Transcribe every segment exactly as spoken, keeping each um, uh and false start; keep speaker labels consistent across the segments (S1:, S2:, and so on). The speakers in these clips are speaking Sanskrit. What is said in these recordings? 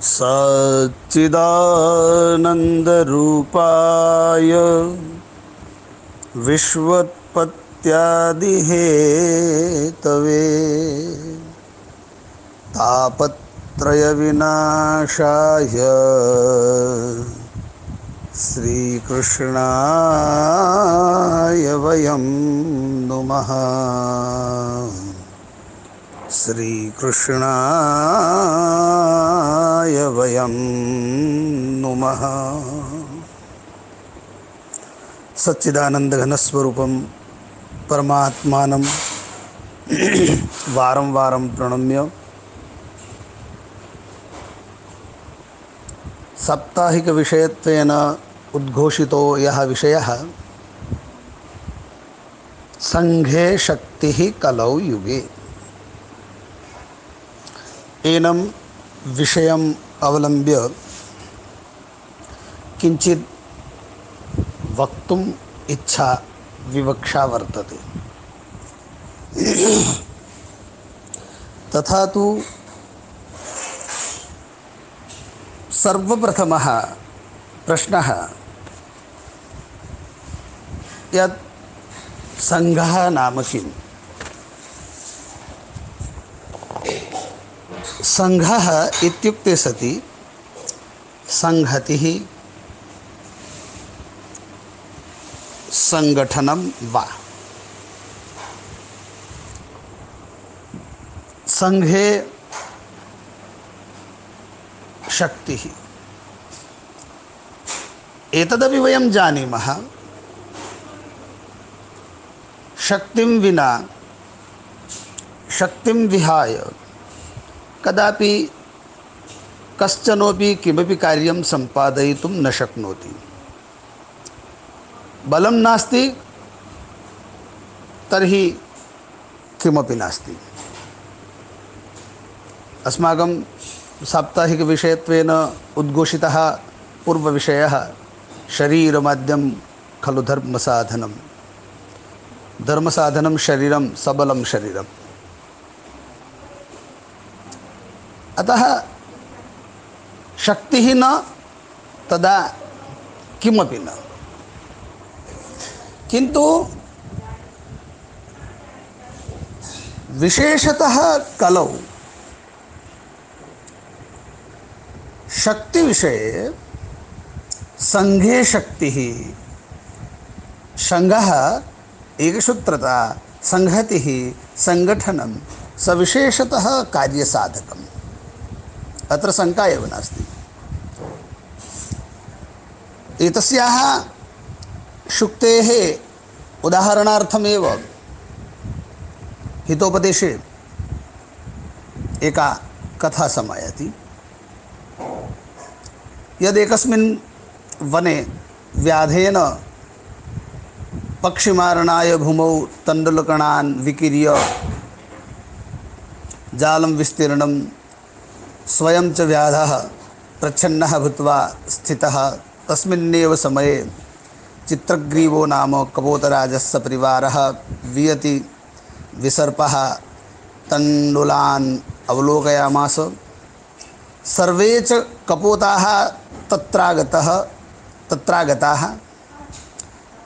S1: सच्चिदानन्दरूपाय विश्वोत्पत्त्यादिहेतवे तापत्रयविनाशाय श्रीकृष्णाय वयं नुमः। श्रीकृष्णाय वयं नुमः। सच्चिदानन्दघनस्वरूपं परमात्मानं वारं वारं प्रणम्य साप्ताहिकविषयत्वेन उद्घोषितो यः विषयः संघे शक्तिः कलौ युगे, एनं विषयम् अवलम्ब्य किञ्चित् वक्तुम् इच्छा विवक्षा वर्तते। तथा तु सर्वप्रथमः प्रश्नः यत् संघः नाम किम्? संघः इत्युक्ते सति संहतिः, संगठनं वा। संघे शक्तिः, एतदपि वयं जानीमः, शक्तिं विना, शक्तिं विहाय कदापि कश्चनोपि किमपि कार्यं सम्पादयितुं न शक्नोति। बलं नास्ति तर्हि किमपि नास्ति। अस्माकं साप्ताहिकविषयत्वेन उद्घोषितः पूर्वविषयः शरीरमाद्यं खलु धर्मसाधनं। धर्मसाधनं शरीरं, सबलं शरीरम्। अतः शक्तिः न तदा किमपि न। किन्तु विशेषतः कलौ शक्तिविषये संघे शक्तिः, संघः, एकसूत्रता, संहतिः, संगठनं सविशेषतः कार्यसाधकम्। अत्र शङ्का एव नास्ति। एतस्याः शुक्तेः उदाहरणार्थमेव हितोपदेशे एका कथा समायाति। यदेकस्मिन् वने व्याधेन पक्षिमारणाय भूमौ तण्डुलकणान् विकीर्य जालं विस्तीर्णं स्वयं च व्याधः प्रच्छन्नः भूत्वा स्थितः। तस्मिन्नेव समये चित्रग्रीवो नाम कपोतराजस्य परिवारः वियति विसर्पः तण्डुलान् अवलोकयामास। सर्वे च कपोताः तत्रागतः तत्रागताः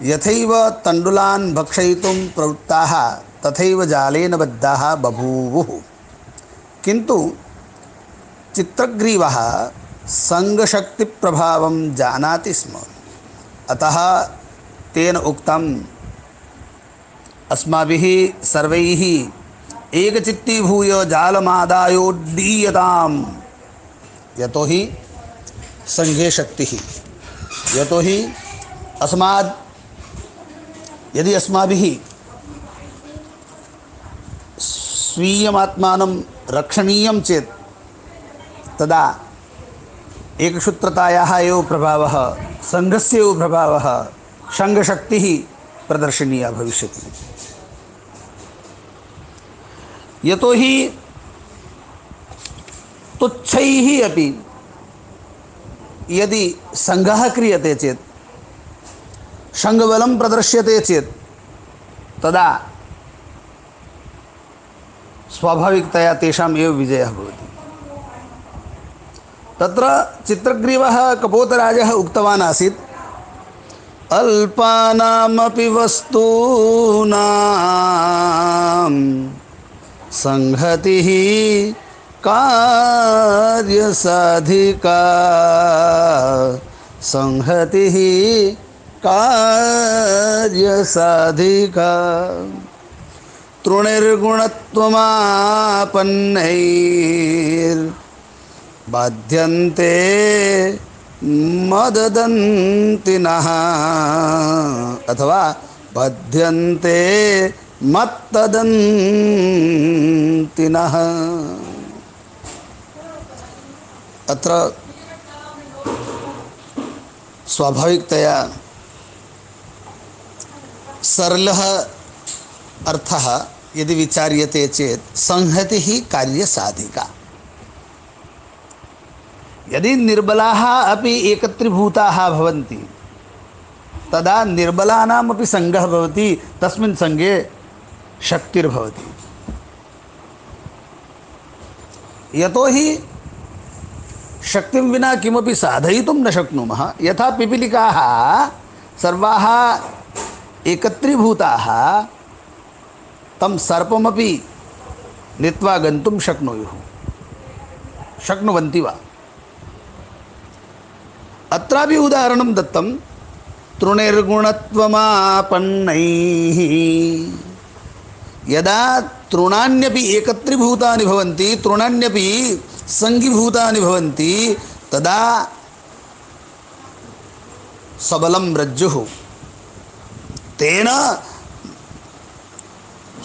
S1: यथैव तण्डुलान् भक्षयितुं प्रवृत्ताः तथैव जालेन बद्धाः बभूवुः। किन्तु चित्रग्रीवः संघशक्तिप्रभावं जानाति स्म। अतः तेन उक्तम्, अस्माभिः सर्वैः एकचित्तीभूय जालमादायोड्डीयताम्। यतोहि संघे शक्तिः, यतोहि अस्माद् यदि अस्माभिः स्वीयमात्मानं रक्षणीयं चेत् तदा एकसूत्रतायाः एव प्रभावः, संघस्य एव प्रभावः, संघशक्तिः प्रदर्शनीया भविष्यति। यतोहि तुच्छैः अपि यदि संघः क्रियते चेत्, संघबलं प्रदर्श्यते चेत् तदा स्वाभाविकतया तेषाम् एव विजयः भवति। तत्र चित्रग्रीवः कपोतराजः उक्तवान् आसीत्, अल्पानामपि वस्तूनां संहतिः कार्यसाधिका, संहतिः कार्यसाधिका। तृणैर्गुणत्वमापन्नैर्बाध्यन्ते मददन्तिनः, अथवा बध्यन्ते मत्तदन्तिनः। अत्र स्वाभाविकतया सरलः अर्थः यदि विचार्यते चेत् संहतिः कार्यसाधिका। यदि निर्बलाः अपि एकत्रीभूताः भवन्ति तदा निर्बलानामपि संघः भवति, तस्मिन् संघे शक्तिर्भवति। यतोहि शक्तिं विना किमपि साधयितुं न शक्नुमः। यथा पिपीलिकाः सर्वाः एकत्रीभूताः तं सर्पमपि नीत्वा गन्तुं शक्नुयुः, शक्नुवन्ति वा? अत्रापि उदाहरणं दत्तं, तृणैर्गुणत्वमापन्नैः। यदा तृणान्यपि एकत्रीभूतानि भवन्ति, तृणान्यपि संघीभूतानि भवन्ति, तदा सबलं रज्जुः, तेन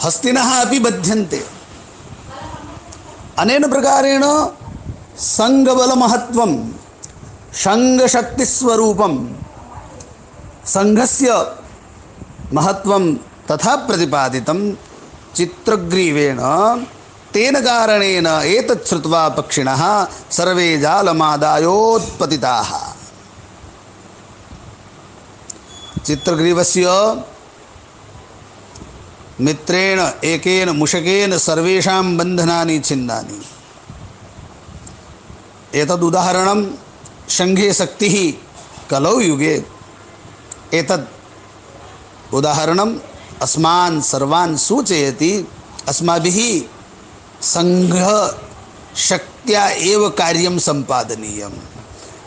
S1: हस्तिनः अपि बध्यन्ते। अनेन प्रकारेण संघबलमहत्वं, संघशक्तिस्वरूपं, संघस्य महत्वं तथा प्रतिपादितं चित्रग्रीवेण। तेन कारणेन एतत् श्रुत्वा पक्षिणः सर्वे जालमादायोत्पतिताः। चित्रग्रीवस्य मित्रेण एकेन मुषकेन सर्वेषां बन्धनानि छिन्नानि। एतद् उदाहरणं शङ्घे शक्तिः कलौ युगे। एतद् उदाहरणम् अस्मान् सर्वान् सूचयति, अस्माभिः संघशक्त्या एव कार्यं सम्पादनीयं।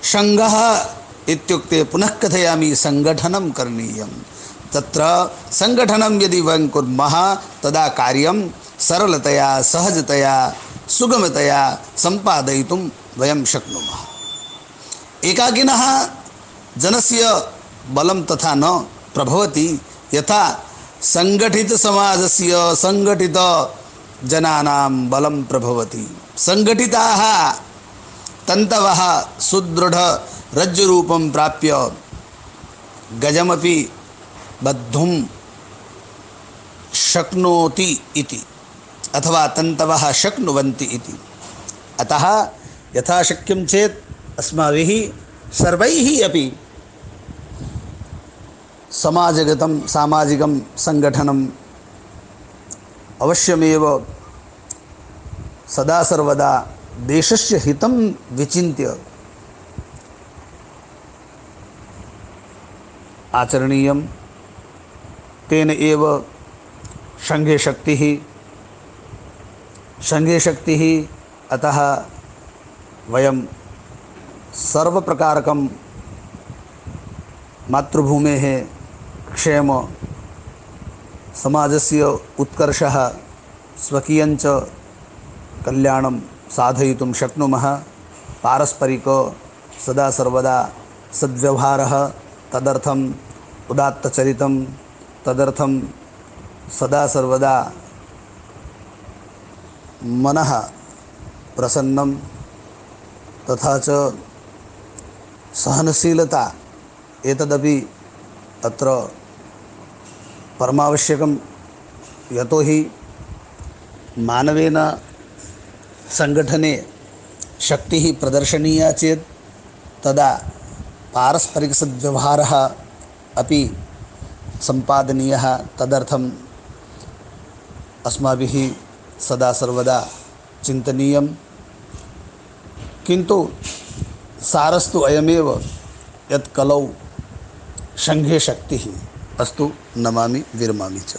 S1: संघः इत्युक्ते पुनः कथयामि, संगठनं करणीयं। तत्र संगठनं यदि वयं कुर्मः तदा कार्यं सरलतया, सहजतया, सुगमतया सम्पादयितुं वयं शक्नुमः। एकाकिनः जनस्य बलं तथा न प्रभवति, यथा संगठितसमाजस्य संगठितजनानां बलं प्रभवति। संगठिताः तन्तवः सुदृढरज्जुरूपं प्राप्य गजमपि बद्धुं शक्नोति इति, अथवा तन्तवः शक्नुवन्ति इति। अतः यथा शक्यं चेत् अस्माभिः सर्वैः अपि समाजगतं सामाजिकं संगठनम् अवश्यमेव सदा सर्वदा देशस्य हितं विचिन्त्य आचरणीयं। तेन एव संघे शक्तिः संघे शक्तिः अतः वयं सर्वप्रकारकं मातृभूमेः क्षेम, समाजस्य उत्कर्षः, स्वकीयञ्च कल्याणं साधयितुं शक्नुमः। पारस्परिक सदा सर्वदा सद्व्यवहारः, तदर्थम् उदात्तचरितं, तदर्थं सदा सर्वदा मनः प्रसन्नं, तथा च सहनशीलता, एतदपि अत्र परमावश्यकं। यतोहि मानवेन संगठने शक्तिः प्रदर्शनीया चेत् तदा पारस्परिकसद्व्यवहारः अपि सम्पादनीयः। तदर्थम् अस्माभिः सदा सर्वदा चिन्तनीयं। किन्तु सारस्तु अयमेव यत् कलौ संघे शक्तिः। अस्तु, नमामि विरमामि च।